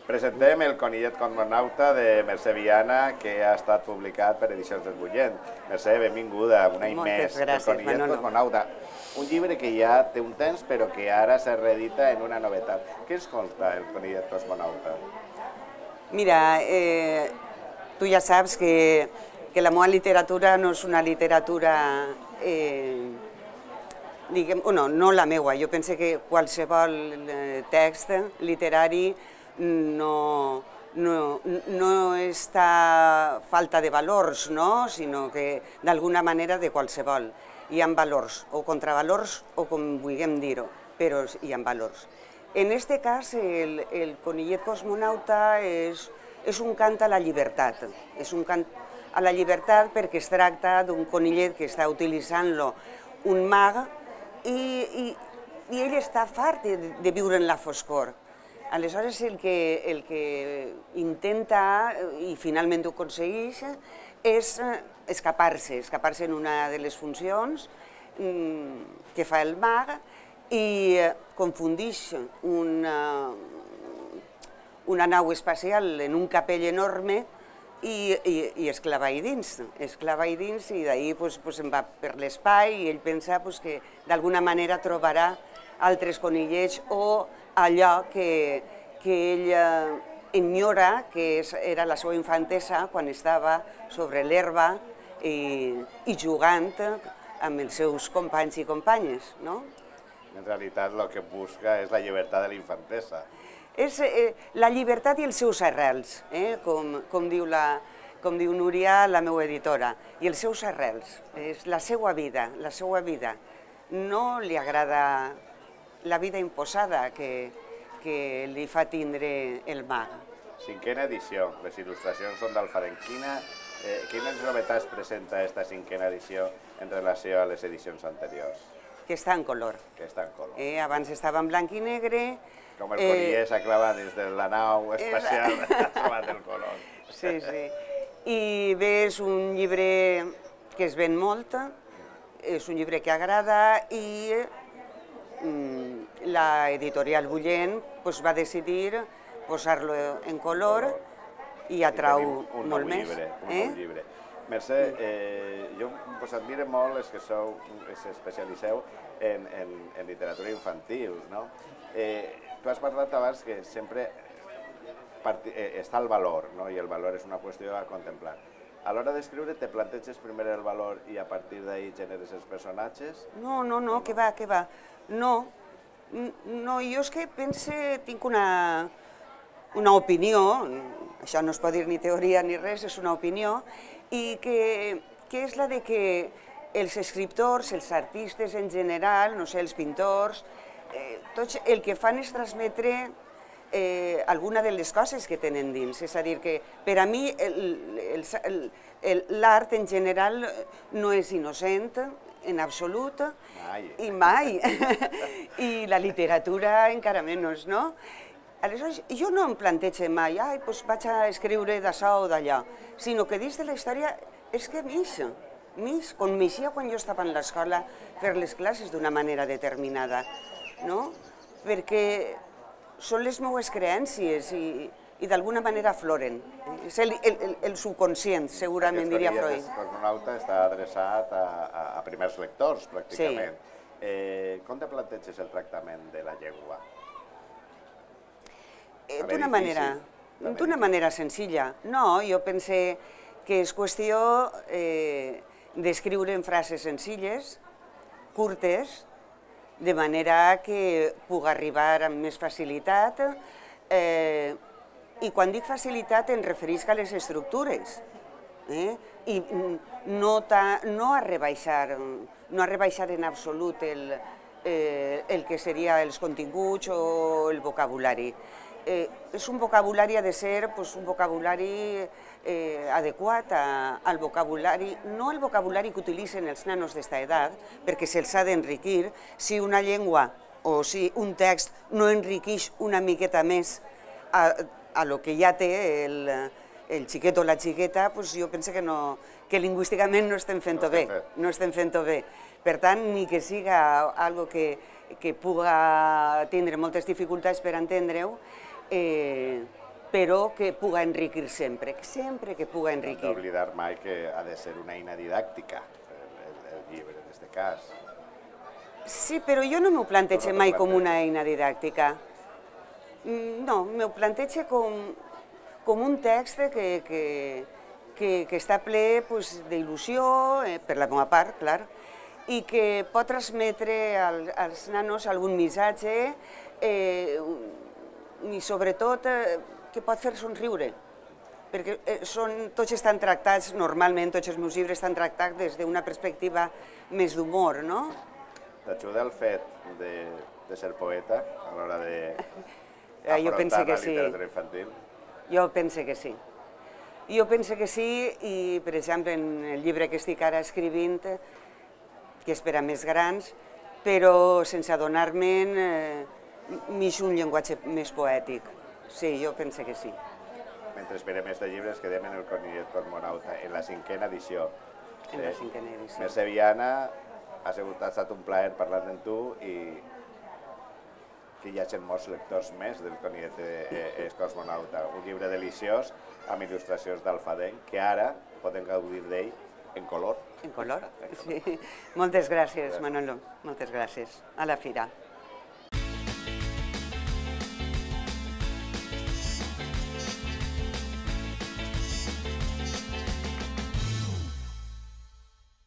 Presentem el Conillet Cosmonauta de Mercè Viana, que ha estat publicat per Edicions del Bullent. Mercè, benvinguda, un any més. El Conillet Cosmonauta, un llibre que ja té un temps, però que ara se reedita en una novetat. Què ens conta el Conillet Cosmonauta? Mira, tu ja saps que la meva literatura no és una literatura, no la meua, jo penso que qualsevol text literari no està falta de valors, sinó que d'alguna manera de qualsevol. Hi ha valors, o contravalors, o com vulguem dir-ho, però hi ha valors. En aquest cas, el Conillet Cosmonauta és un cant a la llibertat. És un cant a la llibertat perquè es tracta d'un conillet que està utilitzant-lo un mag i ell està fart de viure en la foscor. Aleshores, el que intenta, i finalment ho aconsegueix, és escapar-se en una de les funcions que fa el mag i confundeix una nau espacial en un capell enorme i es clava ahí dins, i d'ahir se'n va per l'espai i ell pensa que d'alguna manera trobarà altres conillets o allò que ell enyora, que era la seva infantesa quan estava sobre l'herba i jugant amb els seus companys i companyes. En realitat el que busca és la llibertat de la infantesa. És la llibertat i els seus arrels, com diu Núria, la meva editora, i els seus arrels, és la seva vida, la seva vida. No li agrada la vida imposada que li fa tindre el mag. Cinquena edició, les il·lustracions són d'Alfarén. Quines novetats presenta aquesta cinquena edició en relació a les edicions anteriors? Que està en color. Que està en color. Abans estava en blanc i negre. Com el conillet s'ha clavat dins de la nau espacial, ha trobat el color. Sí, sí. I bé, és un llibre que es ven molt, és un llibre que agrada i l'editorial Bullent va decidir posar-lo en color i atrau molt més. Un nou llibre. Mercè, jo us admiro molt els que especialiceu en literatura infantil. Tu has parlat abans que sempre està el valor, i el valor és una qüestió a contemplar. A l'hora d'escriure, te planteges primer el valor i a partir d'ahir generes els personatges? No, que va, que va. No, jo és que tinc una opinió, això no es pot dir ni teoria ni res, és una opinió, i que és la de que els escriptors, els artistes en general, no sé, els pintors, tots el que fan és transmetre alguna de les coses que tenen dins. És a dir, que per a mi l'art en general no és innocent, en absolut, i mai. I la literatura encara menys, no? Aleshores, jo no em plantege mai, vaig a escriure d'això o d'allò, sinó que dins de la història és que com m'eixia quan jo estava en l'escola fer les classes d'una manera determinada, no? Perquè són les meves creences i d'alguna manera afloren. És el subconscient, segurament diria Freud. Aquest Cosmonauta està adreçat a primers lectors, pràcticament. Com te planteges el tractament de la llengua? D'una manera senzilla. No, jo pense que és qüestió d'escriure en frases senzilles, curtes, de manera que puc arribar amb més facilitat. I quan dic facilitat em referisc a les estructures. I no a rebaixar en absolut el que seria els continguts o el vocabulari. És un vocabulari, ha de ser un vocabulari adequat al vocabulari, no el vocabulari que utilitzen els nanos d'esta edat, perquè se'ls ha d'enriquir. Si una llengua o si un text no enriqueix una miqueta més a lo que ja té el xiquet o la xiqueta, jo penso que lingüísticament no estem fent-ho bé. Per tant, ni que siga algo que puga tindre moltes dificultats per entendre-ho, però que puga enriquir sempre que puga No enriquir. oblidar mai que ha de ser una eina didàctica, el llibre, en aquest cas. Sí, però jo no m'ho plantege mai com una eina didàctica. No, m'ho plantege com un text que està ple d'il·lusió, per la meva part, clar, i que pot transmetre als nanos algun missatge i sobretot que pot fer somriure, perquè tots estan tractats, normalment tots els meus llibres estan tractats des d'una perspectiva més d'humor, no? T'ajuda el fet de ser poeta a l'hora Jo penso d'afrontar que la sí. literatura infantil? Jo penso que sí. Jo penso que sí i, per exemple, en el llibre que estic ara escrivint, que és per a més grans, però sense adonar-me'n m'ix un llenguatge més poètic. Sí, jo penso que sí. Mentre esperem este llibre ens quedem en el Conillet Cosmonauta, en la 5a edició. En la 5a edició. Mercè Viana, ha estat un plaer parlar amb tu i que hi hagi molts lectors més del Conillet Cosmonauta. Un llibre deliciós amb il·lustracions d'Alfadenc que ara podem gaudir d'ell en color. En color? Sí. Moltes gràcies, Manolo. Moltes gràcies. A la fira.